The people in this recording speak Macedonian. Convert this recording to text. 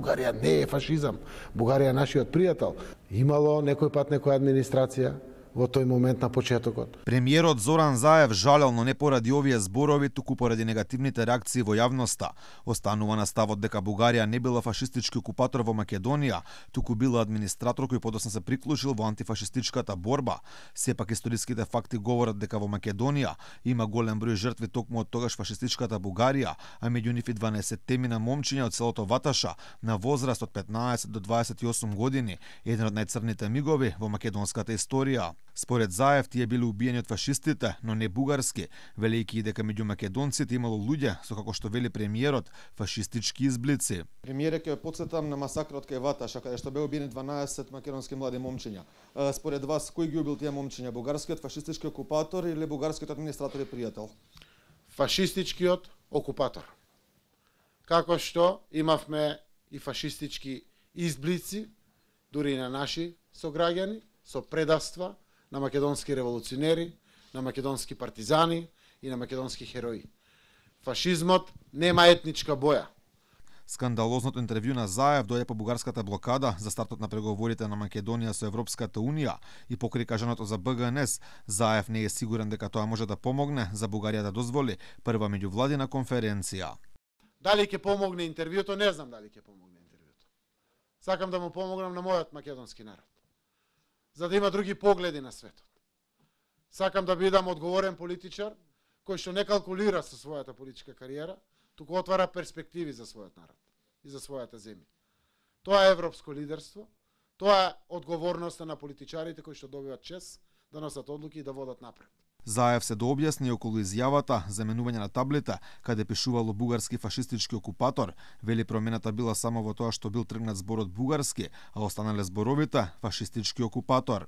Бугарија не е фашизам, Бугарија е нашиот пријател. Имало некој пат некоја администрација во тој момент на почетокот. Премиерот Зоран Заев жалел, но не поради овие зборови, туку поради негативните реакции во јавноста. Останува на ставот дека Бугарија не била фашистички окупатор во Македонија, туку била администратор кој подоцна се приклучил во антифашистичката борба. Сепак историските факти говорат дека во Македонија има голем број жртви токму од тогаш фашистичката Бугарија, а меѓу нив и 12-темина момчиња од селото Ваташа на возраст од 15 до 28 години, еден од најцрните мигови во македонската историја. Според Заев, тие биле убиени од фашистите, но не бугарски, велејќи и дека меѓу македонците имало луѓе со, како што вели премиерот, фашистички изблици. Премиере, ќе потсетам на масакрот кај Ваташа, каде што беа убиени 12 македонски млади момчиња. Според вас, кој ги убил тие момчиња? Бугарскиот фашистички окупатор или бугарскиот администратор и пријател? Фашистичкиот окупатор. Како што имавме и фашистички изблици, дури и на наши сограѓани, со предаства на македонски револуционери, на македонски партизани и на македонски херои. Фашизмот нема етничка боја. Скандалозното интервју на Заев дојде по бугарската блокада за стартот на преговорите на Македонија со Европската Унија и покрај кажаното за БГНС, Заев не е сигурен дека тоа може да помогне за Бугарија да дозволи прва меѓувладина конференција. Дали ќе помогне интервјуто, не знам дали ќе помогне интервјуто. Сакам да му помогнам на мојот македонски народ, за да има други погледи на светот. Сакам да бидам одговорен политичар, кој што не калкулира со својата политичка кариера, туку отвара перспективи за својот народ и за својата земја. Тоа е европско лидерство, тоа е одговорноста на политичарите кои што добиваат чест да носат одлуки и да водат напред. Заев се дообјасни околу изјавата за менување на таблета, каде пишувало бугарски фашистички окупатор. Вели промената била само во тоа што бил тргнат зборот бугарски, а останале зборовите фашистички окупатор.